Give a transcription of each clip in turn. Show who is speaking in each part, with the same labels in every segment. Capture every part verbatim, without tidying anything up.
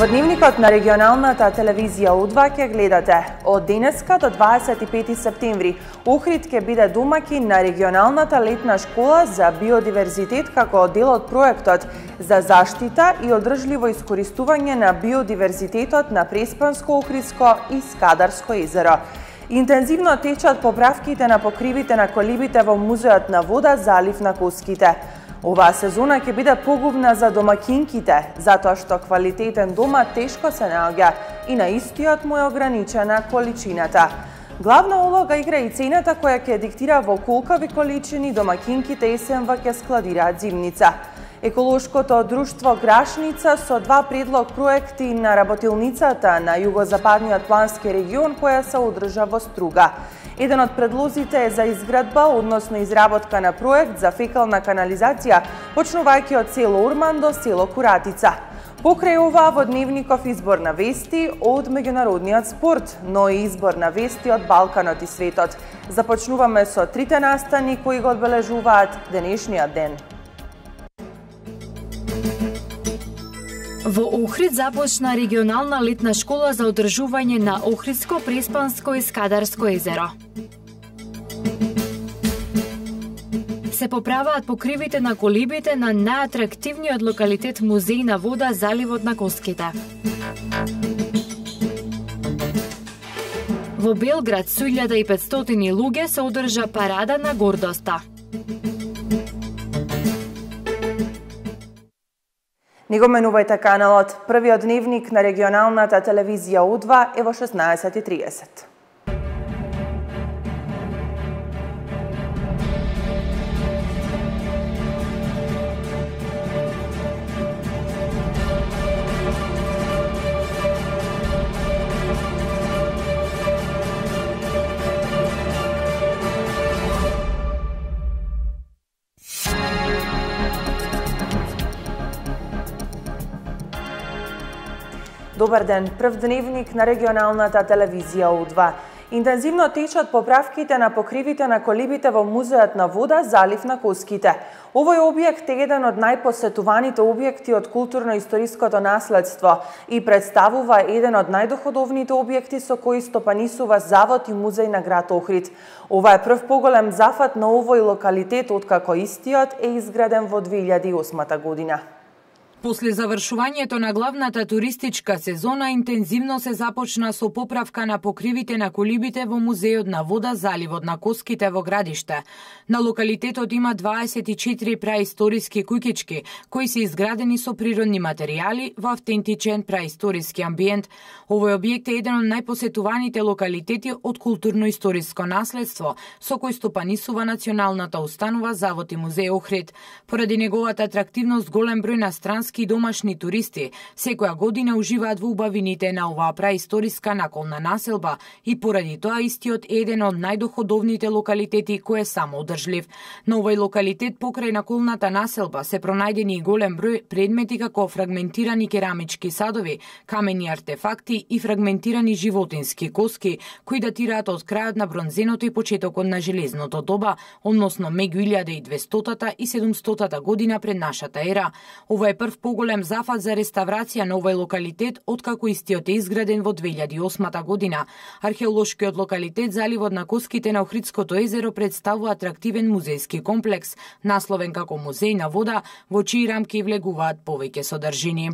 Speaker 1: Во дневникот на регионалната телевизија У два ќе гледате од денеска до дваесет и пети септември Охрид ќе биде домаќин на регионалната летна школа за биодиверзитет како дел од проектот за заштита и одржливо искористување на биодиверзитетот на Преспанско, Охридско и Скадарско езеро. Интензивно течат поправките на покривите на колибите во Музеот на вода Залив на Коските. Оваа сезона ќе биде погубна за домакинките, затоа што квалитетен дома тешко се наоѓа и на истиот му е ограничена количината. Главна улога игра и цената која ќе диктира во колкови количини домакинките есенва ќе складираат зимница. Еколошкото друштво Грашница со два предлог проекти на работилницата на југозападниот плански регион која се одржа во Струга. Еден од предлозите е за изградба, односно изработка на проект за фекална канализација, почнувајќи од село Урман до село Куратица. Покрај ова во дневников избор на вести од меѓународниот спорт, но и избор на вести од Балканот и светот. Започнуваме со трите настани кои го одбележуваат денешниот ден.
Speaker 2: Во Охрид започна регионална летна школа за одржување на Охридско, Преспанско и Скадарско езеро. Се поправаат покривите на колибите на најатрактивниот локалитет Музеј на вода Заливот на Коските. Во Белград со илјада и петстотини луѓе се одржа парада на гордоста.
Speaker 1: Не го менувајте каналот. Првиот дневник на регионалната телевизија У два е во шеснаесет и триесет. Добар ден, прв дневник на регионалната телевизија У два. Интензивно течат поправките на покривите на колибите во Музеот на вода Залив на Коските. Овој објект е еден од најпосетуваните објекти од културно-историското наследство и представува еден од најдоходовните објекти со кои стопанисува Завод и музеј на град Охрид. Ова е прв поголем зафат на овој локалитет откако истиот е изграден во две илјади и осма година.
Speaker 2: После завршувањето на главната туристичка сезона, интензивно се започна со поправка на покривите на колибите во Музеот на вода Заливот на Коските во Градиште. На локалитетот има дваесет и четири праисториски куќички, кои се изградени со природни материјали во автентичен праисториски амбиент. Овој објект е еден од најпосетуваните локалитети од културно-историско наследство, со кој стопанисува националната установа Завод и музеј Охрид. Поради неговата атрактивност, голем број на странски и домашни туристи секоја година уживаат во убавините на оваа праисториска наколна населба и поради тоа истиот е еден од најдоходовните локалитети кој е самоодржлив. На овој локалитет покрај наколната населба се пронајдени и голем број предмети како фрагментирани керамички садови, камени артефакти и фрагментирани животински коски кои датираат од крајот на бронзеното и почетокот на железното доба, односно меѓу илјада и двестотата и седумстотата година пред нашата ера. Ова е прв поголем зафат за реставрација на овој локалитет откако истиот е изграден во две илјади и осма година. Археолошкиот локалитет Заливот на Коските на Охридското езеро представува атрактивен музејски комплекс, насловен како Музеј на вода, во чии рамки влегуваат повеќе содржини.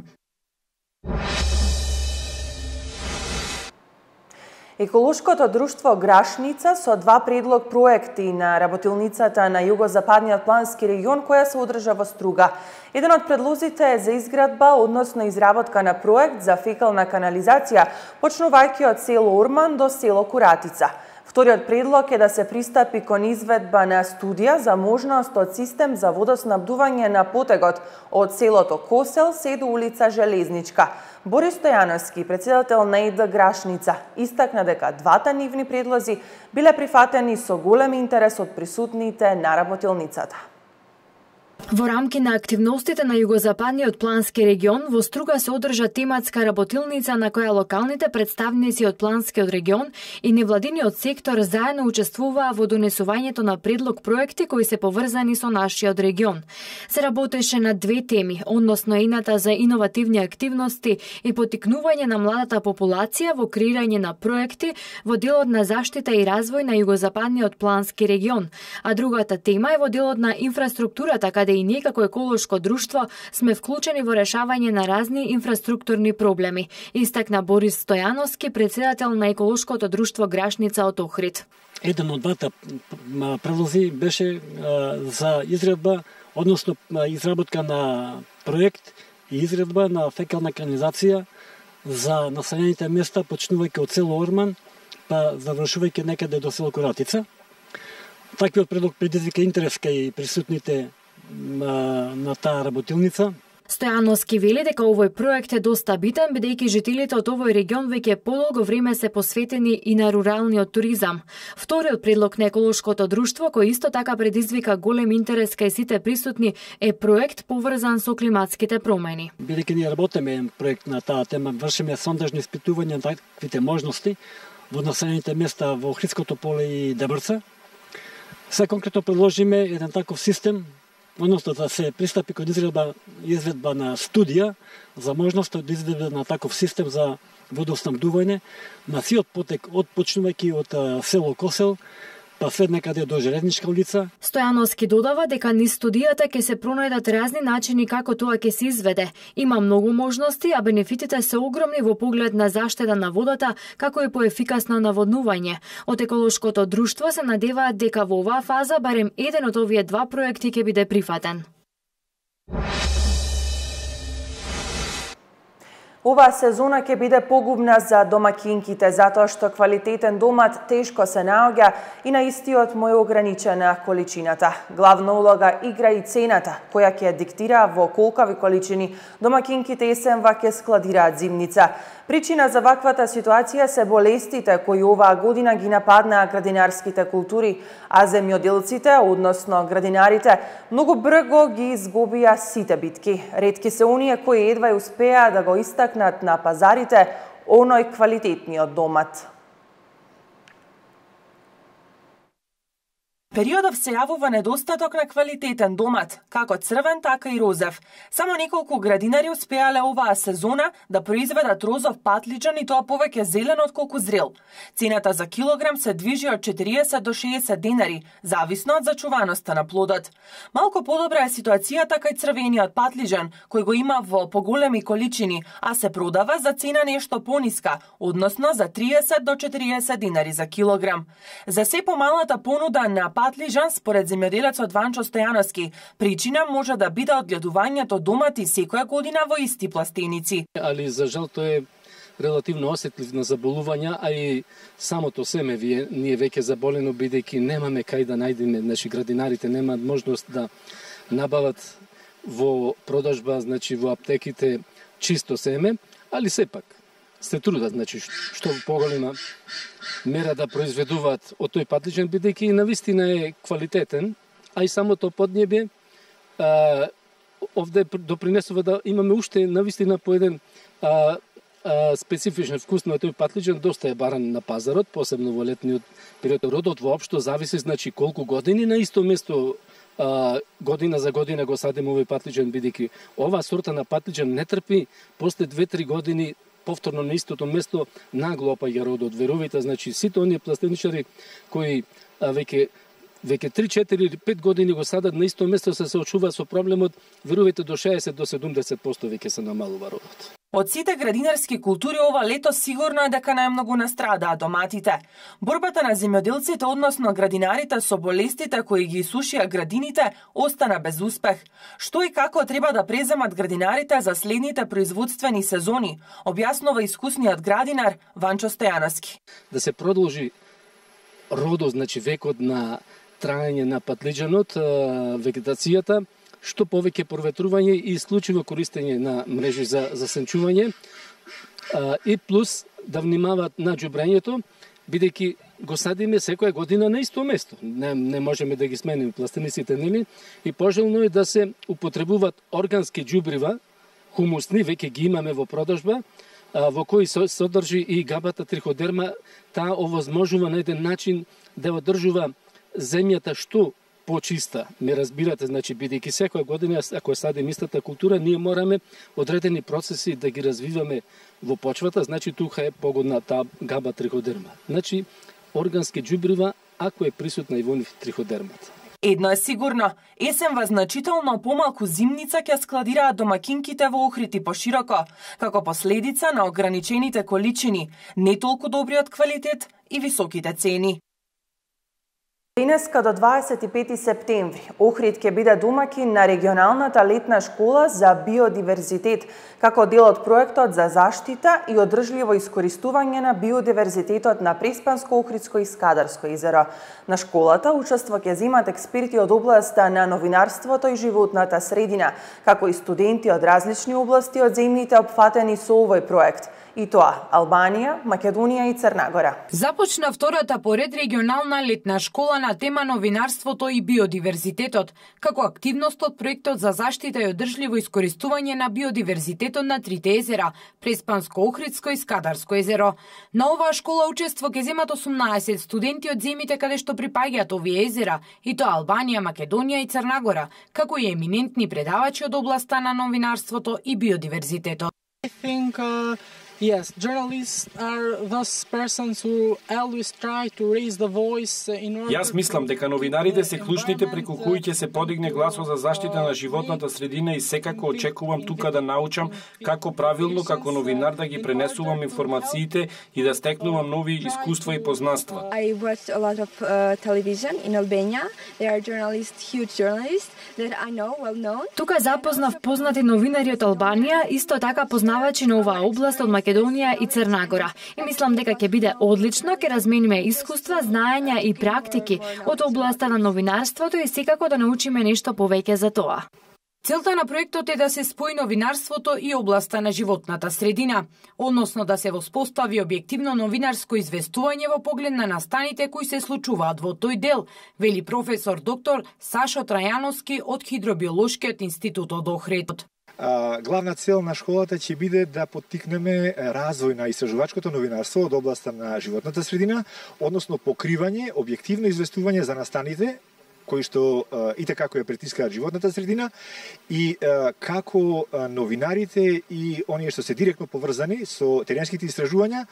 Speaker 1: Еколошкото друштво Грашница со два предлог проекти на работилницата на југозападниот плански регион која се одржа во Струга. Еден од предлозите е за изградба, односно изработка на проект за фекална канализација, почнувајќи од село Урман до село Куратица. Вториот предлог е да се пристапи кон изведба на студија за можност од систем за водоснабдување на потегот од селото Косел се до улица Железничка. Борис Стојановски, председател на ЕД Грашница, истакна дека двата нивни предлози биле прифатени со голем интерес од присутните на работилницата.
Speaker 3: Во рамки на активностите на југозападниот плански регион, во Струга се одржа тематска работилница на која локалните представници од планскиот регион и невладиниот сектор заедно учествуваа во донесувањето на предлог проекти кои се поврзани со нашиот регион. Се работеше на две теми, односно едната за иновативни активности и поттикнување на младата популација во креирање на проекти во делот на заштита и развој на југозападниот плански регион, а другата тема е во делот на инфраструктурата, каде и ние како еколошко друштво сме вклучени во решавање на разни инфраструктурни проблеми, истакна Борис Стојановски, председател на еколошкото друштво Грашница од Охрид.
Speaker 4: Еден од двата предлози беше за изредба, односно изработка на проект и изредба на фекална канализација за населените места, почнувајќи од село Орман, па завршувајќи некаде до село Коратица. Таквиот предлог предизвика интерес кај присутните на, на таа работилница.
Speaker 3: Стојановски вели дека овој проект е доста битен, бидејќи жителите од овој регион веќе подолго време се посветени и на руралниот туризам. Вториот предлог на еколошкото друштво, кој исто така предизвика голем интерес кај сите присутни, е проект поврзан со климатските промени.
Speaker 4: Бидејќи ние работиме проект на таа тема, вршиме сондажни испитувања на таквите можности во населените места во Охридското поле и Дебрца. Се конкретно предложиме еден таков систем, односно да се пристапи кон изредба, изредба на студија за можноста да изvedба на таков систем за водоснабдување на сиот потек од почнувајќи од село Косел, па след некаде до Железничка улица.
Speaker 3: Стојановски додава дека низ студијата ќе се пронајдат разни начини како тоа ќе се изведе. Има многу можности, а бенефитите се огромни во поглед на заштита на водата, како и поефикасно наводнување. Од еколошкото друштво се надеваат дека во оваа фаза барем еден од овие два проекти ќе биде прифатен.
Speaker 1: Оваа сезона ќе биде погубна за домакинките, затоа што квалитетен домат тешко се наоѓа и на истиот му е ограничена количината. Главна улога игра и цената, која ќе диктира во колкави количини домакинките есенва ќе складираат зимница. Причина за ваквата ситуација се болестите кои оваа година ги нападнаа градинарските култури, а земјоделците, односно градинарите, многу брго ги изгубија сите битки. Ретки се оние кои едва успеа да го истакнат на пазарите оној квалитетниот домат. Периодов се јавува недостаток на квалитетен домат, како црвен, така и розев. Само неколку градинари успеале оваа сезона да произведат розов патлиџан и тоа повеќе зелен отколку зрел. Цената за килограм се движи од четириесет до шеесет денари, зависно од зачуваноста на плодот. Малку подобра е ситуацијата кај црвениот патлиџан, кој го има во поголеми количини, а се продава за цена нешто пониска, односно за триесет до четириесет денари за килограм. За се помалата понуда на патлиџан, според земјоделецот Ванчо Стојановски, причина може да биде одгледувањето домати секоја година во исти пластеници.
Speaker 5: Али за жал тоа е релативно осетлив на заболувања, а и самото семе вие ние веќе заболено, бидејќи немаме кај да најдеме, значи градинарите немаат можност да набават во продажба, значи во аптеките чисто семе, али сепак се трудат, значи што поголема мера да произведуваат од тој патлиџан, бидејќи навистина е квалитетен, а и самото поднебје а, овде допринесува да имаме уште навистина по еден а, а, специфичен вкус на тој патлиџан, доста е баран на пазарот, посебно во летниот период. Родот воопшто зависи, значи колку години на исто место а, година за година го садиме овој патлиџан, бидејќи оваа сорта на патлиџан не трпи после две-три години повторно на истото место нагло опаѓа родот. Верувате, значи сите оние пластеничари кои а, веќе веќе три-четири или пет години го садат на исто место, се соочуваат со проблемот, верувате до шеесет до седумдесет проценти веќе се намалува родот.
Speaker 1: Од сите градинарски култури ова лето сигурно е дека најмногу настрадаа доматите. Борбата на земјоделците, односно градинарите со болестите кои ги исушија градините, остана без успех. Што и како треба да преземат градинарите за следните производствени сезони, објаснува искусниот градинар Ванчо Стојановски.
Speaker 5: Да се продолжи родот, значи векот на траење на патлиџанот, вегетацијата, што повеќе проветрување и исклучиво користење на мрежи за засенчување, и плюс да внимаваат на џубрењето, бидејќи го садиме секоја година на исто место. Не, не можеме да ги смениме пластениците, нели? И пожелно е да се употребуваат органски џубрива, хумусни, веќе ги имаме во продажба, во кои содржи и габата триходерма. Таа овозможува на еден начин да одржува земјата што почиста. Ме разбирате, значи, бидејќи секоја година, ако садиме истата култура, ние мораме одредени процеси да ги развиваме во почвата, значи тука е погодна таа габа триходерма. Значи, органски џубрива, ако е присутна и во нив триходермата.
Speaker 1: Едно е сигурно, есенва значително помалку зимница ќе складираат домакинките во Охрид и пошироко, како последица на ограничените количини, не толку добриот квалитет и високите цени. Денеска до дваесет и пети септември Охрид ќе биде домакин на регионалната летна школа за биодиверзитет, како дел од проектот за заштита и одржливо искористување на биодиверзитетот на Преспанско-Охридско и Скадарско езеро. На школата учество ќе земат експерти од областа на новинарството и животната средина, како и студенти од различни области од земјите опфатени со овој проект. И тоа Албанија, Македонија и Црна Гора.
Speaker 2: Започна втората поред регионална летна школа на тема новинарството и биодиверзитетот, како активност од проектот за заштита и одржливо искористување на биодиверзитетот на трите езера, Преспанско-Охридско и Скадарско езеро. На оваа школа учество ќе земат осумнаесет студенти од земјите каде што припаѓаат овие езера, и тоа Албанија, Македонија и Црна Гора, како и еминентни предавачи од областа на новинарството и биодиверзитетот.
Speaker 6: I think, uh... Yes, journalists are those persons who always try to raise the voice in order.
Speaker 7: Јас мислам дека новинарите се клучните преку кои ќе се подигне гласот за заштита на животната средина и секако очекувам тука да научам како правилно како новинар да ги пренесувам информациите и да стекнувам нови искуства и познанства.
Speaker 8: I watch a lot of uh, television in Albania. There are journalists, huge journalists that I know well known.
Speaker 3: Тука запознав познати новинари од Албанија, исто така познавачи на оваа област од Македонија и Црна Гора. И мислам дека ќе биде одлично, ќе размениме искуства, знаења и практики од областа на новинарството и секако да научиме нешто повеќе за тоа.
Speaker 2: Целта на проектот е да се спои новинарството и областа на животната средина, односно да се воспостави објективно новинарско известување во поглед на настаните кои се случуваат во тој дел, вели професор доктор Сашо Трајановски од Хидробиолошкиот институт од Охрид.
Speaker 9: Главна цел на школата ќе биде да поттикнеме развој на истражувачкото новинарство од областа на животната средина, односно покривање, објективно известување за настаните кои што и така кои ја притискаат животната средина и како новинарите и оние што се директно поврзани со теренските истражувања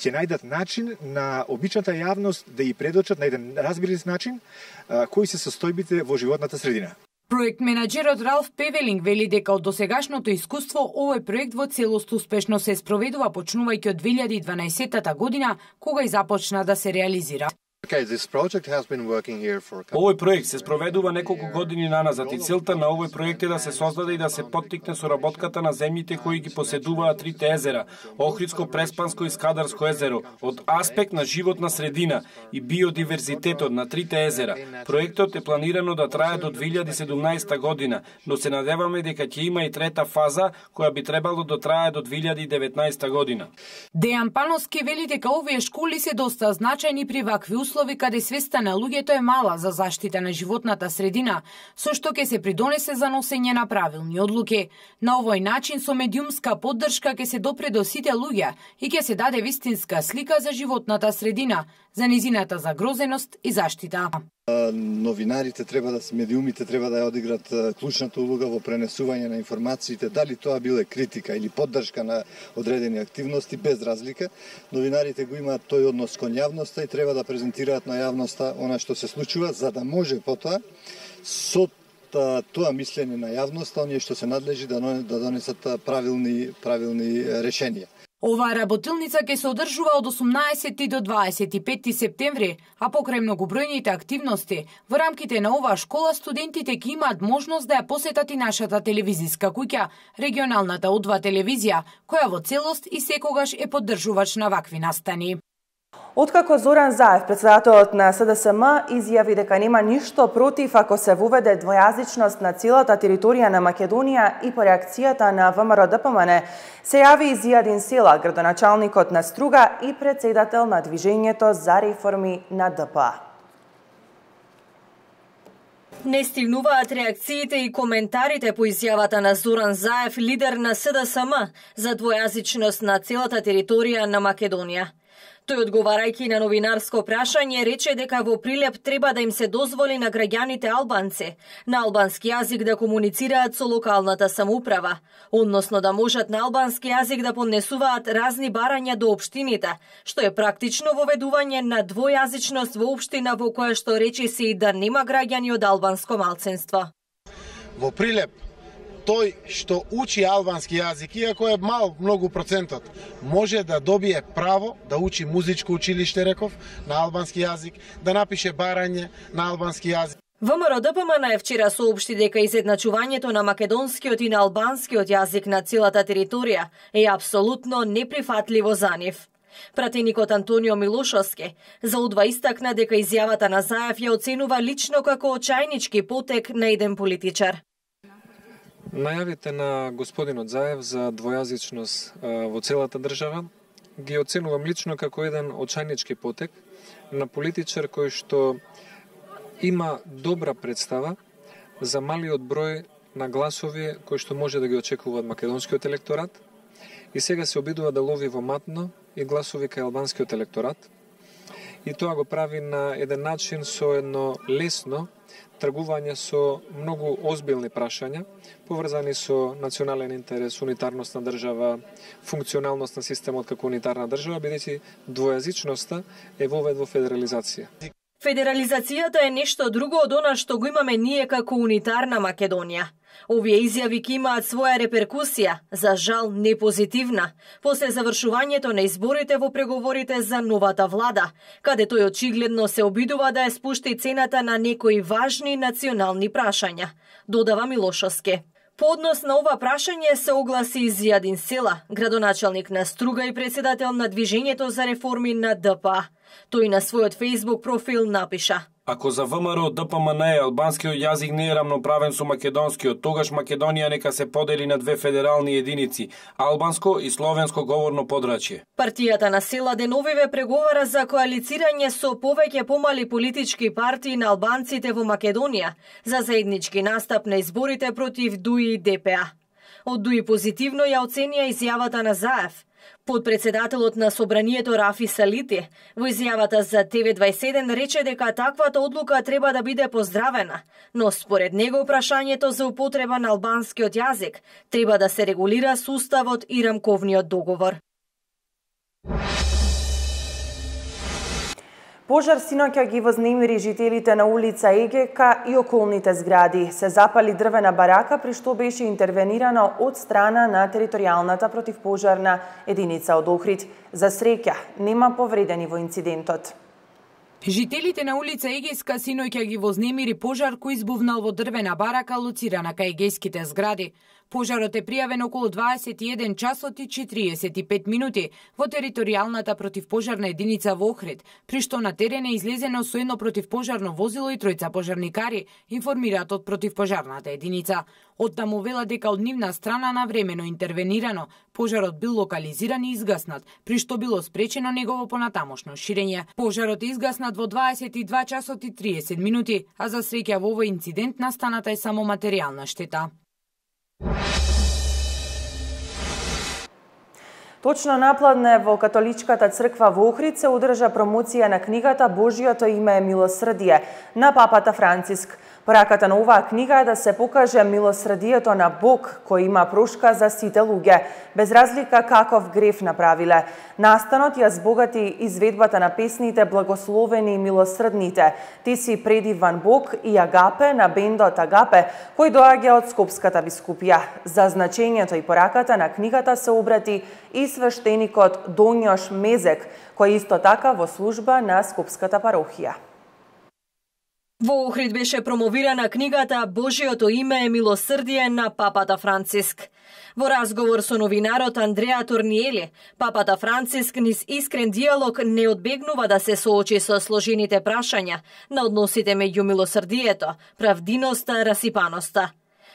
Speaker 9: ќе најдат начин на обичната јавност да ја предочат на еден разбирлив начин кои се состојбите во животната средина.
Speaker 2: Проект менаџерот Ралф Певелинг вели дека од досегашното искуство овој проект во целост успешно се спроведува почнувајќи од две илјади и дванаесетта година кога и започна да се реализира.
Speaker 7: Овој проект се спроведува неколку години наназад и целта на овој проект е да се создаде и да се поттикне соработката на земјите кои ги поседуваат трите езера, Охридско, Преспанско и Скадарско езеро, од аспект на животна средина и биодиверзитетот на трите езера. Проектот е планирано да трае до две илјади и седумнаесетта година, но се надеваме дека ќе има и трета фаза која би требало да трае до две илјади и деветнаесетта година.
Speaker 2: Дејан Пановски вели дека овие школи се доста значајни при вакви услови каде свеста на луѓето е мала за заштита на животната средина, со што ќе се придонесе за носење на правилни одлуки. На овој начин со медиумска поддршка ќе се допре до сите луѓе и ќе се даде вистинска слика за животната средина, за низината загрозеност и заштита.
Speaker 10: Новинарите треба да се медиумите треба да ја одиграт клучната улога во пренесување на информациите, дали тоа биле критика или поддршка на одредени активности, без разлика. Новинарите го имаат тој однос кон јавноста и треба да презентираат на јавноста она што се случува, за да може потоа со тоа мислење на јавноста оние што се надлежи да донесат правилни правилни решенија.
Speaker 2: Оваа работилница ќе се одржува од осумнаесети до дваесет и петти септември, а покрај многобројните активности, во рамките на оваа школа студентите ќе имаат можност да ја посетат и нашата телевизиска куќа, регионалната О два телевизија, која во целост и секогаш е поддржувач на вакви настани.
Speaker 1: Откако Зоран Заев, председателот на С Д С М, изјави дека нема ништо против ако се воведе двојазичност на целата територија на Македонија и по реакцијата на В М Р Д П М Н, се јави Зијадин Села, градоначалникот на Струга и председател на Движењето за реформи на Д П А.
Speaker 11: Не стигнуваат реакциите и коментарите по изјавата на Зоран Заев, лидер на С Д С М, за двојазичност на целата територија на Македонија. Тој, одговарајќи на новинарско прашање, рече дека во Прилеп треба да им се дозволи на граѓаните албанци на албански јазик да комуницираат со локалната самоуправа, односно да можат на албански јазик да поднесуваат разни барања до општините, што е практично воведување на двојазичност во општина во која што речиси и да нема граѓани од албанско малцинство.
Speaker 12: Во Прилеп тој што учи албански јазик, иако е мал многу процентот, може да добие право да учи музичко училиште, реков, на албански јазик, да напише барање на албански јазик.
Speaker 11: В М Р Д П М Н вчера соопшти дека изедначувањето на македонскиот и на албанскиот јазик на целата територија е апсолутно неприфатливо за нив. Пратеникот Антонио Милошовски за Удва истакна дека изјавата на Заев ја оценува лично како очајнички потек на еден политичар.
Speaker 13: Најавите на господинот Заев за двојазичност во целата држава ги оценувам лично како еден очајнички потек на политичар кој што има добра представа за малиот број на гласови кои што може да ги очекува од македонскиот електорат и сега се обидува да лови во матно и гласови кај албанскиот електорат. И тоа го прави на еден начин со едно лесно тргување со многу озбилни прашања, поврзани со национален интерес, унитарност на држава, функционалност на системот како унитарна држава, бидејќи двојазичноста е вовед во федерализација.
Speaker 11: Федерализацијата е нешто друго од она што го имаме ние како унитарна Македонија. Овие изјави ќе имаат своја реперкусија, за жал не позитивна, после завршувањето на изборите во преговорите за новата влада, каде тој очигледно се обидува да ја спушти цената на некои важни национални прашања, додава Милошовски. По однос на ова прашање се огласи Зијадин Села, градоначалник на Струга и председател на Движењето за реформи на Д П А. Тој на својот Facebook профил напиша:
Speaker 7: Ако за В М Р Д П М Н албанскиот јазик не е рамноправен со македонскиот, тогаш Македонија нека се подели на две федерални единици, албанско и словенско говорно подрачје.
Speaker 11: Партијата на Села деновиве преговара за коалицирање со повеќе помали политички партии на албанците во Македонија за заеднички настап на изборите против Д У И и Д П А. Од Д У И позитивно ја оценија изјавата на Заев. Подпредседателот на Собранието Рафи Салити во изјавата за Т В дваесет и седум рече дека таквата одлука треба да биде поздравена, но според него прашањето за употреба на албанскиот јазик треба да се регулира со уставот и рамковниот договор.
Speaker 1: Пожар синоќа ги вознемири жителите на улица Егека и околните згради. Се запали дрвена барака, при што беше интервенирано од страна на територијалната противпожарна единица од Охрид. За среќа, нема повредени во инцидентот.
Speaker 2: Жителите на улица Егејска синоќа ги вознемири пожар кој избувнал во дрвена барака лоцирана кај егејските згради. Пожарот е пријавен околу дваесет и еден часот и четириесет и пет минути во територијалната противпожарна единица во Охрид, при што на терен е излезено со едно противпожарно возило и тројца пожарникари, информираат од противпожарната единица. Оттаму вела дека од нивна страна навремено интервенирано, пожарот бил локализиран и изгаснат, при што било спречено негово понатамошно ширење. Пожарот е изгаснат во дваесет и два часот и триесет минути, а за среќа во овој инцидент настаната е само материјална штета.
Speaker 1: Точно напладне во католичката црква во Охрид се одржа промоција на книгата Божјото име е милосрдие на папата Франциск. Пораката на оваа книга е да се покаже милосрдието на Бог кој има прошка за сите луѓе, без разлика каков греф направиле. Настанот ја збогати изведбата на песните Благословени и милосрдните, Ти си предиван Бог и Агапе на бендот Агапе, кој доаѓа од Скопската бискупија. За значењето и пораката на книгата се обрати и свештеникот Доњош Мезек, кој исто така во служба на Скопската парохија.
Speaker 11: Во Охрид беше промовирана книгата Божиото име е милосрдие на папата Франциск. Во разговор со новинарот Андреа Торниели, папата Франциск низ искрен диалог не одбегнува да се соочи со сложените прашања на односите меѓу милосрдието, правдиноста, расипаноста.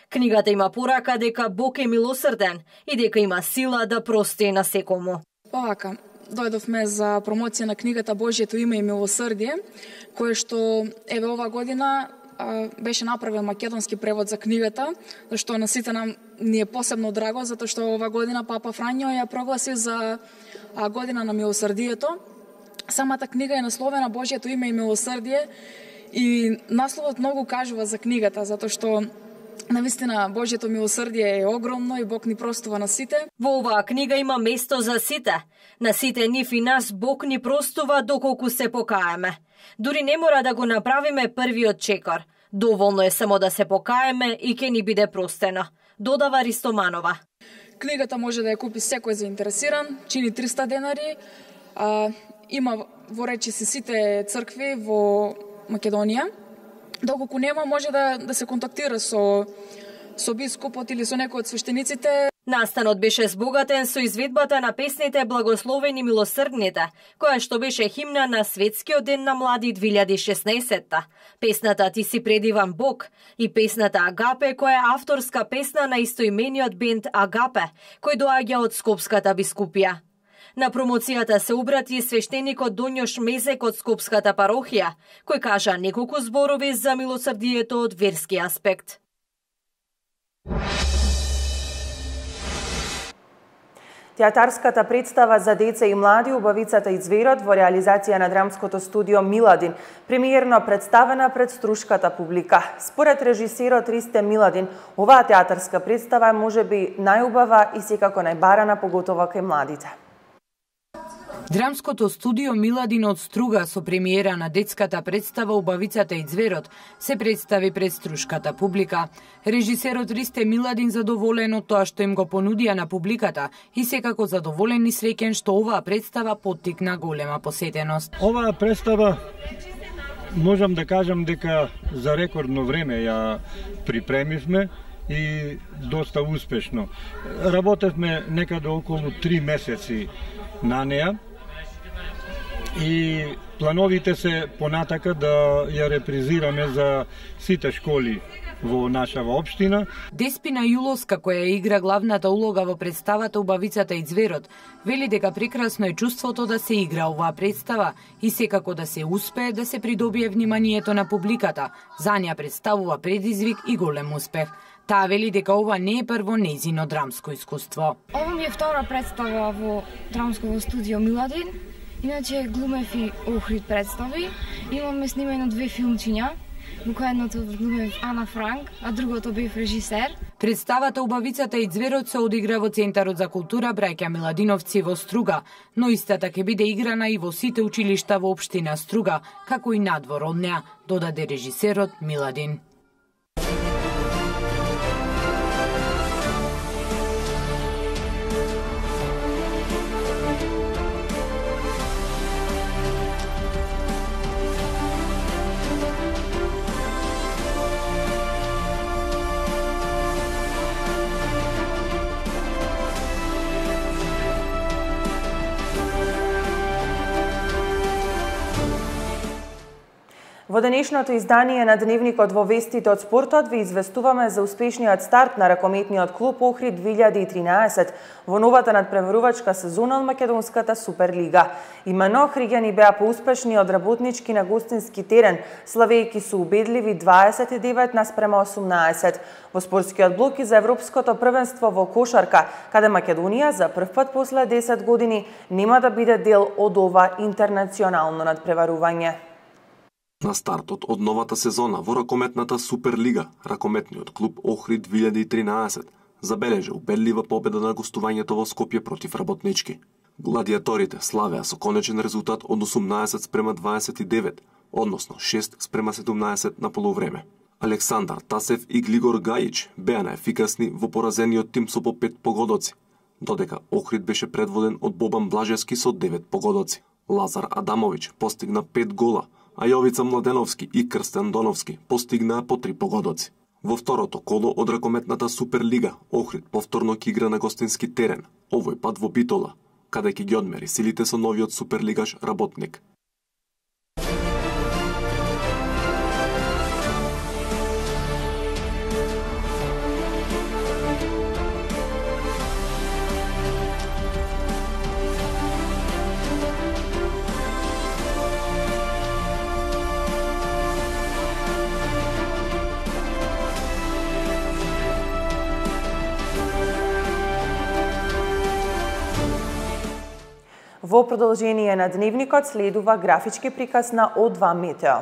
Speaker 11: Книгата има порака дека Бог е милосрден и дека има сила да прости на секому.
Speaker 14: Овака, дојдовме за промоција на книгата Божието име и милосрдие, кое што еве ова година а, беше направен македонски превод за книгата, што на сите нам ни е посебно драго, затоа што ова година Папа Фрањо ја прогласи за а, година на милосрдието. Самата книга е насловена Божието име и милосрдие и насловот многу кажува за книгата, затоа што навистина Божието милосрдие е огромно и Бог ни простува на сите.
Speaker 11: Во оваа книга има место за сите. На сите нив и нас Бог ни простува доколку се покаеме. Дури не мора да го направиме првиот чекор. Доволно е само да се покаеме и ќе ни биде простено, додава Ристоманова.
Speaker 14: Книгата може да ја купи секој заинтересиран, чини триста денари. А, има во речиси сите цркви во Македонија. Доколку нема, може да, да се контактира со, со бископот или со некој од свештениците.
Speaker 11: Настанот беше збогатен со изведбата на песните Благословени милосрдните, која што беше химна на Светскиот ден на млади две илјади и шеснаесетта. Песната Ти си предиван Бог и песната Агапе, која е авторска песна на истоимениот бенд Агапе, кој доаѓа од Скопската бискупија. На промоцијата се обрати свештеникот Доњош Мезек од Скопската парохија, кој кажа неколку зборови за милосрдието од верски аспект.
Speaker 1: Театарската представа за деца и млади Убавицата и зверот во реализација на драмското студио Миладин, премиерно представена пред струшката публика. Според режисерот Ристе Миладин, оваа театарска представа е можеби најубава и секако најбарана, поготово кај младите.
Speaker 2: Драмското студио Миладин од Струга со премиера на детската представа Убавицата и зверот се представи пред струшката публика. Режисерот Ристе Миладин задоволен од тоа што им го понудија на публиката и секако задоволен и среќен што оваа представа поттикна голема посетеност.
Speaker 15: Оваа представа можам да кажам дека за рекордно време ја припремивме и доста успешно. Работевме некаде околу три месеци на неа и плановите се понатака да ја репризираме за сите школи во нашава општина.
Speaker 2: Деспина Јуловска, која игра главната улога во представата Убавицата и зверот, вели дека прекрасно е чувството да се игра оваа представа и секако да се успее да се придобие вниманието на публиката. За неа представува предизвик и голем успех. Таа вели дека ова не е прво нејзино драмско искуство.
Speaker 16: Ова ми е втора представа во драмското студио Миладин. Иначе глумев и Охрид представи. Имаме снимено две филмчиња. Во која едното глумев Ана Франк, а другото бев режисер.
Speaker 2: Представата Убавицата и зверот се одигра во Центарот за култура Браќа Миладиновци во Струга, но истата ќе биде играна и во сите училишта во општина Струга, како и надвор од неа, додаде режисерот Миладин.
Speaker 1: Во денешното издание на Дневникот во вестите од спортот ви известуваме за успешниот старт на ракометниот клуб Охрид две илјади и тринаесет во новата надпреварувачка сезона од Македонската Суперлига. Имено охриѓани беа поуспешни од работнички на гостински терен, славејќи со убедливи дваесет и девет наспрема осумнаесет. Во спортскиот блок и за Европското првенство во кошарка, каде Македонија за прв пат после десет години нема да биде дел од ова интернационално надпреварување.
Speaker 17: На стартот од новата сезона во ракометната Суперлига, ракометниот клуб Охрид две илјади и тринаесет забележа убедлива победа на гостувањето во Скопје против работнички. Гладиаторите славеа со конечен резултат од осумнаесет спрема дваесет и девет, односно шест спрема седумнаесет на полувреме. Александар Тасев и Глигор Гајич беа најефикасни во поразениот тим со по пет погодоци, додека Охрид беше предводен од Бобан Блажевски со девет погодоци. Лазар Адамовиќ постигна пет гола, а Јовица Младеновски и Крстен Доновски постигнаа по три погодоци. Во второто коло од ракометната Суперлига, Охрид повторно ќе игра на гостински терен, овој пат во Битола, каде ќе ги одмери силите со новиот суперлигаш Работник.
Speaker 1: Во продолжение на дневникот следува графички приказ на О два Метео.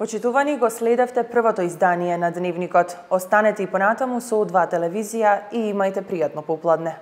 Speaker 1: Почитувани, го следевте првото издание на Дневникот. Останете и понатаму со О два телевизија и имајте пријатно попладне.